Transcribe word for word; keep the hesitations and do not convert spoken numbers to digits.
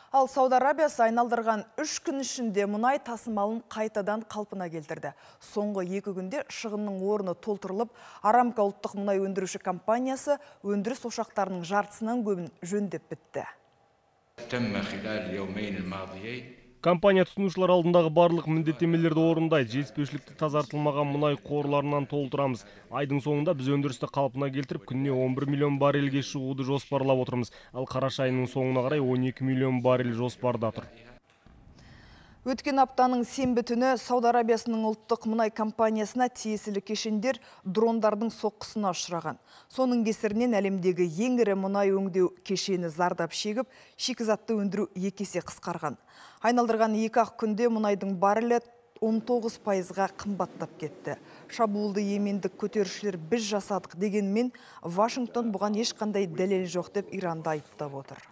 Ал Сауд Арабиясы айналдырған үш күн ішінде мұнай тасымалын қайтадан қалпына келтірді. Соңғы екі күнде шығынның орны толтырылып, Арамко ұлттық мұнай өндіруші компаниясы өндіріс ошақтарының жартысынан көбін жөндеп бітті. Компания тұтынушылар алдындағы барлық міндеттемелерді орындайды. Жетіспеушілікті тазартылмаған мұнай қорларынан толтырамыз. Айдың соңында біз өндірісті қалпына келтіріп, күніне он бір миллион баррельге шығуды жоспарлап отырмыз. Ал қараша айының соңына қарай он екі миллион баррель жоспарда тұр. Өткен аптаның сенбі түні Сауд Арабиясының ұлттық мұнай компаниясына тиесілі кешендер дрондардың соққысына ұшыраған. Соның кесірінен әлемдегі ең ірі мұнай өңдеу кешені зардап шегіп, шикізатты өндіру екі есе қысқарған. Айналдырған екі ақ күнде мұнайдың баррелі он тоғыз пайызға қымбаттап кетті. Шабуылды йемендік көтерушілер біз жасадық дегенмен, Вашингтон бұған ешқандай дәлел жоқ деп Иранды айыптап отыр.